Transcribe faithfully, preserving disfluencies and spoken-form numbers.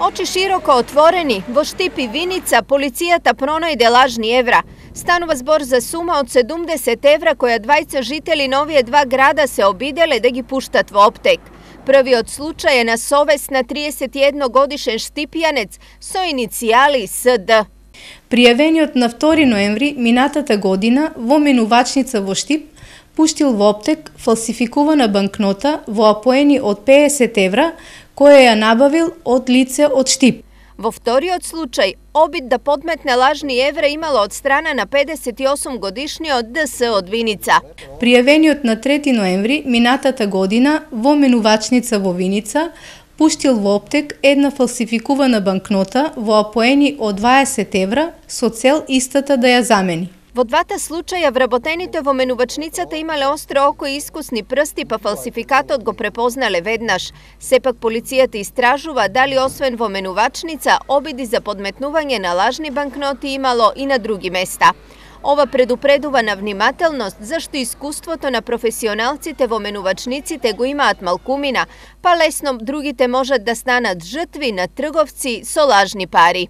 Очи широко отворени, во Штип и Виница полицијата пронајде лажни евра. Станува збор за сума од седумдесет евра која двајца жители на овие два града се обиделе да ги пуштат во оптек. Првиот случај е на совест на триесет и едногодишен штипјанец со иницијали С Д. Пријавениот на втори ноември минатата година во менувачница во Штип пуштил во оптек фалсификувана банкнота во апоени од педесет евра, која ја набавил од лице од Штип. Во вториот случај, обид да подметне лажни евра имало од страна на педесет и осум годишниот Д С од Виница. Пријавениот на трети ноември минатата година во менувачница во Виница пуштил во оптек една фалсификувана банкнота во апоени од дваесет евра со цел истата да ја замени. Во двата случаја вработените во менувачницата имале остро око и искусни прсти, па фалсификатот го препознале веднаш. Сепак полицијата истражува дали освен во менувачница обиди за подметнување на лажни банкноти имало и на други места. Ова предупредува на внимателност, зашто искуството на професионалците во менувачниците го имаат малкумина, па лесно другите можат да станат жртви на трговци со лажни пари.